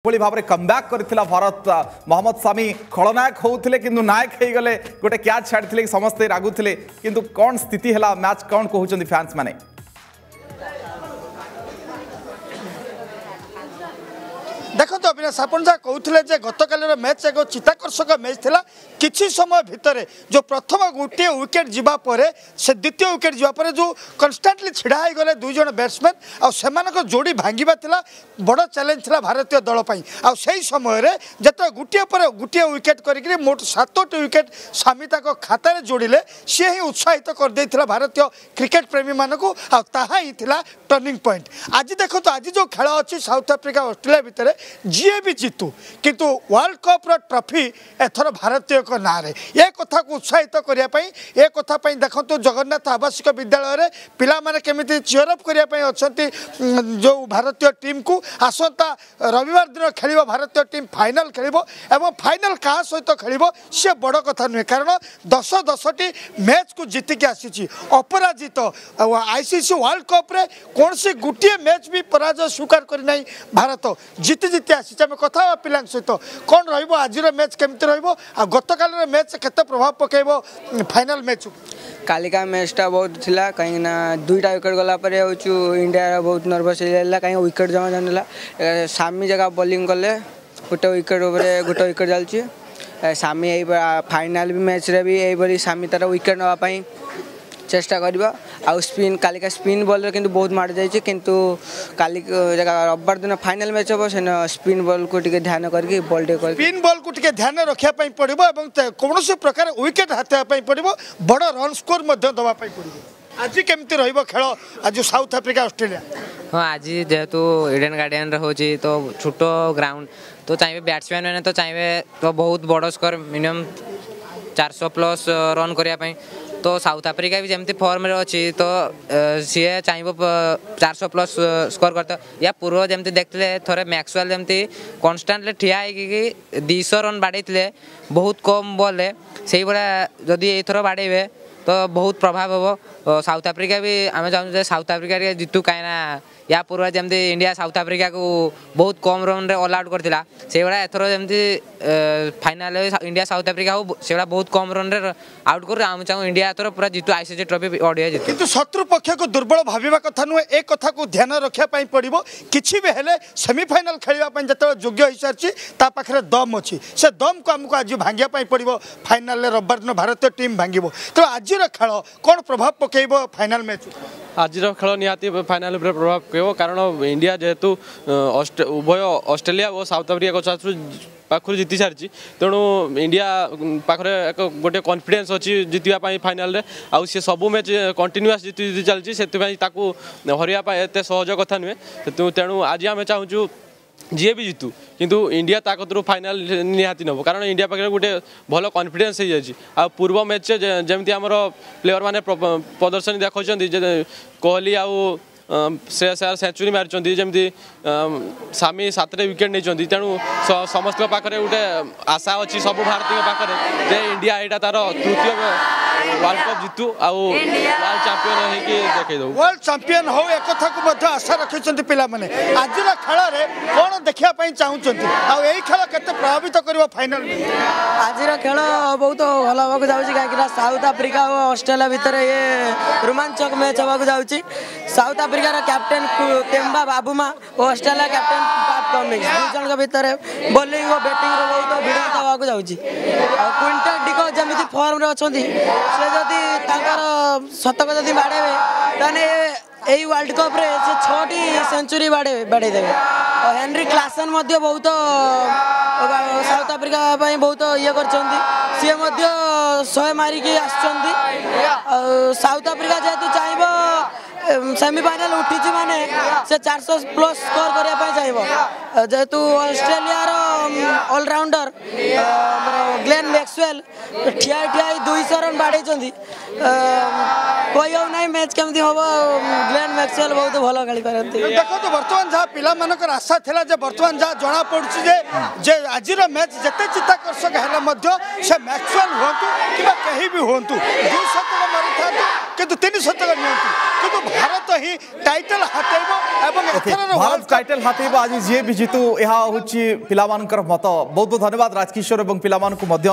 ଯେଭଳି ଭାବରେ କମ୍ବ୍ୟାକ୍ କରିଥିଲା ଭାରତ, ମହମ୍ମଦ ସାମି ଖଳନାୟକ ହେଉଥିଲେ କିନ୍ତୁ ନାୟକ ହେଇଗଲେ। ଗୋଟେ କ୍ୟାଚ୍ ଛାଡ଼ିଥିଲେ, ସମସ୍ତେ ରାଗୁଥିଲେ, କିନ୍ତୁ କ'ଣ ସ୍ଥିତି ହେଲା ମ୍ୟାଚ୍, କ'ଣ କହୁଛନ୍ତି ଫ୍ୟାନ୍ସ ମାନେ? ଦେଖନ୍ତୁ ଅବିନାଶ, ଆପଣ ଯାହା କହୁଥିଲେ ଯେ ଗତକାଲିର ମ୍ୟାଚ୍ ଏକ ଚିତ୍ତାକର୍ଷକ ମ୍ୟାଚ୍ ଥିଲା। କିଛି ସମୟ ଭିତରେ ଯେଉଁ ପ୍ରଥମ ଗୋଟିଏ ୱିକେଟ୍ ଯିବା ପରେ, ସେ ଦ୍ୱିତୀୟ ୱିକେଟ୍ ଯିବା ପରେ ଯେଉଁ କନଷ୍ଟାଣ୍ଟଲି ଛିଡ଼ା ହେଇଗଲେ ଦୁଇ ଜଣ ବ୍ୟାଟ୍ସମ୍ୟାନ୍, ଆଉ ସେମାନଙ୍କ ଯୋଡ଼ି ଭାଙ୍ଗିବା ଥିଲା ବଡ଼ ଚ୍ୟାଲେଞ୍ଜ ଥିଲା ଭାରତୀୟ ଦଳ ପାଇଁ। ଆଉ ସେହି ସମୟରେ ଯେତେବେଳେ ଗୋଟିଏ ପରେ ଗୋଟିଏ ୱିକେଟ୍ କରିକିରି ମୋଟ 7ଟି ୱିକେଟ୍ ସାମି ତାଙ୍କ ଖାତାରେ ଯୋଡ଼ିଲେ, ସିଏ ହିଁ ଉତ୍ସାହିତ କରିଦେଇଥିଲା ଭାରତୀୟ କ୍ରିକେଟ୍ ପ୍ରେମୀମାନଙ୍କୁ, ଆଉ ତାହା ହିଁ ଥିଲା ଟର୍ଣ୍ଣିଂ ପଏଣ୍ଟ। ଆଜି ଦେଖନ୍ତୁ, ଆଜି ଯେଉଁ ଖେଳ ଅଛି ସାଉଥ ଆଫ୍ରିକା ଅଷ୍ଟ୍ରେଲିଆ ଭିତରେ, ଯିଏ ବି ଜିତୁ କିନ୍ତୁ ୱାର୍ଲଡ କପ୍ର ଟ୍ରଫି ଏଥର ଭାରତୀୟଙ୍କ ନାଁରେ। ଏ କଥାକୁ ଉତ୍ସାହିତ କରିବା ପାଇଁ, ଏ କଥା ପାଇଁ ଦେଖନ୍ତୁ ଜଗନ୍ନାଥ ଆବାସିକ ବିଦ୍ୟାଳୟରେ ପିଲାମାନେ କେମିତି ଚିୟରଅପ୍ କରିବା ପାଇଁ ଅଛନ୍ତି ଯେଉଁ ଭାରତୀୟ ଟିମ୍କୁ। ଆସନ୍ତା ରବିବାର ଦିନ ଖେଳିବ ଭାରତୀୟ ଟିମ୍, ଫାଇନାଲ ଖେଳିବ, ଏବଂ ଫାଇନାଲ କାହା ସହିତ ଖେଳିବ ସେ ବଡ଼ କଥା ନୁହେଁ, କାରଣ 10 10ଟି ମ୍ୟାଚ୍କୁ ଜିତିକି ଆସିଛି ଅପରାଜିତ। ଆଉ ଆଇସିସି ୱାର୍ଲଡ କପ୍ରେ କୌଣସି ଗୋଟିଏ ମ୍ୟାଚ୍ ବି ପରାଜୟ ସ୍ୱୀକାର କରିନାହିଁ ଭାରତ, ଜିତି ଜିତି ଆସିଛି। ଆମେ କଥା ହେବା ପିଲାଙ୍କ ସହିତ, କ'ଣ ରହିବ ଆଜିର ମ୍ୟାଚ୍, କେମିତି ରହିବ, ଆଉ ଗତକାଲିର ମ୍ୟାଚ୍ କେତେ ପ୍ରଭାବ ପକାଇବ ଫାଇନାଲ ମ୍ୟାଚ୍? କାଲିକା ମ୍ୟାଚ୍ଟା ବହୁତ ଥିଲା, କାହିଁକିନା ଦୁଇଟା ୱିକେଟ୍ ଗଲା ପରେ ହେଉଛୁ ଇଣ୍ଡିଆ ବହୁତ ନର୍ଭସ୍ ହେଇଯାଇଥିଲା, କାହିଁକି ୱିକେଟ୍ ଜମା ଜାଣିଲା। ସାମି ଜାଗା ବୋଲିଂ କଲେ, ଗୋଟେ ୱିକେଟ୍ ଉପରେ ଗୋଟେ ୱିକେଟ୍ ଚାଲିଛି। ସାମି ଏଇ ଫାଇନାଲ୍ ବି ମ୍ୟାଚ୍ରେ ବି ଏଇଭଳି ସାମି ତାର ୱିକେଟ୍ ନେବା ପାଇଁ ଚେଷ୍ଟା କରିବ। ଆଉ ସ୍ପିନ୍, କାଲିକା ସ୍ପିନ୍ ବଲ୍ରେ କିନ୍ତୁ ବହୁତ ମାଡ଼ ଯାଇଛି, କିନ୍ତୁ କାଲି ରବିବାର ଦିନ ଫାଇନାଲ୍ ମ୍ୟାଚ୍ ହେବ, ସେଦିନ ସ୍ପିନ୍ ବଲ୍କୁ ଟିକେ ଧ୍ୟାନ କରିକି ବଲ୍ ଟିକେ କରିକି ସ୍ପିନ୍ ବଲ୍କୁ ଟିକେ ଧ୍ୟାନ ରଖିବା ପାଇଁ ପଡ଼ିବ ଏବଂ କୌଣସି ପ୍ରକାର ୱିକେଟ୍ ହାତେଇବା ପାଇଁ ପଡ଼ିବ, ବଡ଼ ରନ୍ ସ୍କୋର ମଧ୍ୟ ଦେବା ପାଇଁ ପଡ଼ିବ। ଆଜି କେମିତି ରହିବ ଖେଳ ଆଜି ସାଉଥ ଆଫ୍ରିକା ଅଷ୍ଟ୍ରେଲିଆ? ହଁ, ଆଜି ଯେହେତୁ ଇଡେନ୍ ଗାର୍ଡେନରେ ହେଉଛି ତ ଛୋଟ ଗ୍ରାଉଣ୍ଡ, ତ ଚାହିଁବେ ବ୍ୟାଟ୍ସମ୍ୟାନ୍ ମାନେ ତ ଚାହିଁବେ ତ ବହୁତ ବଡ଼ ସ୍କୋର, ମିନିମମ୍ 400 ପ୍ଲସ୍ ରନ୍ କରିବା ପାଇଁ। ତ ସାଉଥ ଆଫ୍ରିକା ବି ଯେମିତି ଫର୍ମରେ ଅଛି, ତ ସିଏ ଚାହିଁବ 400 ପ୍ଲସ୍ ସ୍କୋର କରିତେ। ୟା ପୂର୍ବ ଯେମିତି ଦେଖିଥିଲେ ଥରେ ମ୍ୟାକ୍ସୱେଲ୍ ଯେମିତି କନଷ୍ଟାଣ୍ଟଲି ଠିଆ ହେଇକି 200 ରନ୍ ବାଡ଼େଇଥିଲେ ବହୁତ କମ୍ ବଲ୍ରେ, ସେଇଭଳିଆ ଯଦି ଏଇଥର ବାଡ଼େଇବେ ତ ବହୁତ ପ୍ରଭାବ ହେବ। ସାଉଥ ଆଫ୍ରିକା ବି ଆମେ ଚାହୁଁଛୁ ଯେ ସାଉଥ ଆଫ୍ରିକା ଟିକେ ଜିତୁ, କାହିଁକିନା ୟା ପୂର୍ବ ଯେମିତି ଇଣ୍ଡିଆ ସାଉଥ ଆଫ୍ରିକାକୁ ବହୁତ କମ୍ ରନ୍ରେ ଅଲ୍ ଆଉଟ୍ କରିଥିଲା, ସେଇଭଳିଆ ଏଥର ଯେମିତି ଫାଇନାଲରେ ଇଣ୍ଡିଆ ସାଉଥ ଆଫ୍ରିକା ହଉ, ସେଇଭଳିଆ ବହୁତ କମ୍ ରନ୍ରେ ଆଉଟ୍ କରୁ। ଆମେ ଚାହୁଁ ଇଣ୍ଡିଆ ଏଥର ପୁରା ଜିତୁ, ଆଇସିସି ଟ୍ରଫି ଅଡ଼ିଆ ଜିତୁ। କିନ୍ତୁ ଶତ୍ରୁ ପକ୍ଷକୁ ଦୁର୍ବଳ ଭାବିବା କଥା ନୁହେଁ, ଏ କଥାକୁ ଧ୍ୟାନ ରଖିବା ପାଇଁ ପଡ଼ିବ। କିଛି ବି ହେଲେ ସେମିଫାଇନାଲ ଖେଳିବା ପାଇଁ ଯେତେବେଳେ ଯୋଗ୍ୟ ହୋଇସାରିଛି, ତା ପାଖରେ ଦମ୍ ଅଛି, ସେ ଦମ୍କୁ ଆମକୁ ଆଜି ଭାଙ୍ଗିବା ପାଇଁ ପଡ଼ିବ। ଫାଇନାଲରେ ରବିବାର ଦିନ ଭାରତୀୟ ଟିମ୍ ଭାଙ୍ଗିବ। ତେଣୁ ଆଜିର ଖେଳ କ'ଣ ପ୍ରଭାବ ପକାଇବ ଫାଇନାଲ ମ୍ୟାଚ୍? ଆଜିର ଖେଳ ନିହାତି ଫାଇନାଲ ଉପରେ ପ୍ରଭାବ ପକାଇବ, କାରଣ ଇଣ୍ଡିଆ ଯେହେତୁ ଉଭୟ ଅଷ୍ଟ୍ରେଲିଆ ଓ ସାଉଥ ଆଫ୍ରିକା ପାଖରୁ ଜିତି ସାରିଛି, ତେଣୁ ଇଣ୍ଡିଆ ପାଖରେ ଏକ ଗୋଟେ କନଫିଡେନ୍ସ ଅଛି ଜିତିବା ପାଇଁ ଫାଇନାଲରେ। ଆଉ ସେ ସବୁ ମ୍ୟାଚ୍ କଣ୍ଟିନ୍ୟୁଆସ୍ ଜିତି ଜିତି ଚାଲିଛି, ସେଥିପାଇଁ ତାକୁ ହରିବା ପାଇଁ ଏତେ ସହଜ କଥା ନୁହେଁ। ତେଣୁ ଆଜି ଆମେ ଚାହୁଁଛୁ ଯିଏ ବି ଜିତୁ, କିନ୍ତୁ ଇଣ୍ଡିଆ ତା କତିରୁ ଫାଇନାଲ ନିହାତି ନେବ, କାରଣ ଇଣ୍ଡିଆ ପାଖରେ ଗୋଟେ ଭଲ କନଫିଡେନ୍ସ ହେଇଯାଇଛି। ଆଉ ପୂର୍ବ ମ୍ୟାଚ୍ରେ ଯେମିତି ଆମର ପ୍ଲେୟର ମାନେ ପ୍ରଦର୍ଶନୀ ଦେଖାଉଛନ୍ତି, ଯେ କୋହଲି ଆଉ ଶ୍ରେୟସ ଆୟର ସେଞ୍ଚୁରୀ ମାରିଛନ୍ତି, ଯେମିତି ସାମି 7ଟା ୱିକେଟ୍ ନେଇଛନ୍ତି, ତେଣୁ ସମସ୍ତଙ୍କ ପାଖରେ ଗୋଟେ ଆଶା ଅଛି ସବୁ ଭାରତୀୟଙ୍କ ପାଖରେ ଯେ ଇଣ୍ଡିଆ ଏଇଟା ତାର ତୃତୀୟ ୱାର୍ଲଡ କପ୍ ଜିତୁ ଆଉ ୱାର୍ଲଡ ଚାମ୍ପିୟନ ହେଇକି ଦେଖେଇ ଦଉ। ୱାର୍ଲଡ ଚାମ୍ପିୟନ ହଉ, ଏକଥାକୁ ମଧ୍ୟ ଆଶା ରଖିଛନ୍ତି ପିଲାମାନେ। ଆଜିର ଖେଳରେ କ'ଣ ଦେଖିବା ପାଇଁ ଚାହୁଁଛନ୍ତି, ଆଉ ଏଇ ଖେଳ କେତେ ପ୍ରଭାବିତ କରିବ ଫାଇନାଲ? ଆଜିର ଖେଳ ବହୁତ ଭଲ ହେବାକୁ ଯାଉଛି, କାହିଁକିନା ସାଉଥ ଆଫ୍ରିକା ଓ ଅଷ୍ଟ୍ରେଲିଆ ଭିତରେ ଇଏ ରୋମାଞ୍ଚକ ମ୍ୟାଚ୍ ହେବାକୁ ଯାଉଛି। ସାଉଥ ଆଫ୍ରିକାର କ୍ୟାପ୍ଟେନ୍ ତେମ୍ବା ବାବୁମା ଓ ଅଷ୍ଟ୍ରେଲିଆ କ୍ୟାପ୍ଟେନ୍ ପାଟ୍ କମିନ୍ସ, ଦୁଇ ଜଣଙ୍କ ଭିତରେ ବୋଲିଂ ଓ ବ୍ୟାଟିଂର ବହୁତ ଭିଡ଼ନ୍ତ ହେବାକୁ ଯାଉଛି। ଆଉ କ୍ୱିଣ୍ଟନ୍ ଡିକକ୍ ଯେମିତି ଫର୍ମରେ ଅଛନ୍ତି, ସେ ଯଦି ତାଙ୍କର ଶତକ ଯଦି ବାଡ଼େଇବେ, ତାହେଲେ ଏଇ ୱାର୍ଲଡ କପ୍ରେ ସେ 6ଟି ସେଞ୍ଚୁରୀ ବାଡ଼େଇ ଦେବେ। ଆଉ ହେନରି କ୍ଲାସନ୍ ମଧ୍ୟ ବହୁତ ସାଉଥ ଆଫ୍ରିକା ପାଇଁ ବହୁତ ଇଏ କରିଛନ୍ତି, ସିଏ ମଧ୍ୟ 100 ମାରିକି ଆସିଛନ୍ତି। ଆଉ ସାଉଥ ଆଫ୍ରିକା ଯେହେତୁ ଚାହିଁବ, ସେମିଫାଇନାଲ ଉଠିଛି ମାନେ ସେ 400 ପ୍ଲସ୍ ସ୍କୋର କରିବା ପାଇଁ ଚାହିଁବ। ଯେହେତୁ ଅଷ୍ଟ୍ରେଲିଆର ଅଲରାଉଣ୍ଡର ଆମର ଗ୍ଲେନ୍ ମ୍ୟାକ୍ସୱେଲ୍ ଠିଆ ଠିଆ ହେଇ 200 ରନ୍ ବାଡ଼େଇଛନ୍ତି, କହି ହେଉ ନାହିଁ ମ୍ୟାଚ୍ କେମିତି ହେବ। ଗ୍ଲେନ୍ ଗ୍ଲେନ୍ ମ୍ୟାକ୍ସୱେଲ୍ ବହୁତ ଭଲ ଖେଳିପାରନ୍ତି। ଦେଖନ୍ତୁ, ବର୍ତ୍ତମାନ ଯାହା ପିଲାମାନଙ୍କର ଆଶା ଥିଲା ଯେ ବର୍ତ୍ତମାନ ଯାହା ଜଣାପଡ଼ୁଛି ଯେ ଆଜିର ମ୍ୟାଚ୍ ଯେତେ ଚିତ୍ତାକର୍ଷକ ହେଲେ ମଧ୍ୟ ସେ ମ୍ୟାକ୍ସୱେଲ୍ ହୁଅନ୍ତୁ କିମ୍ବା କେହି ବି ହୁଅନ୍ତୁ, 2 ଶତକ ମାରିଥାନ୍ତୁ କିନ୍ତୁ 3 ଶତକ ନିଅନ୍ତୁ, କିନ୍ତୁ ଭାରତ ହିଁ ଟାଇଟଲ ହାତେଇବ ଏବଂ ଏଥରର ଭାରତ ଟାଇଟଲ ହାତେଇବ ଆଜି ଯିଏ ବି ଜିତୁ, ଏହା ହେଉଛି ପିଲାମାନଙ୍କର ମତ। ବହୁତ ବହୁତ ଧନ୍ୟବାଦ ରାଜକିଶୋର ଏବଂ ପିଲାମାନଙ୍କୁ ମଧ୍ୟ।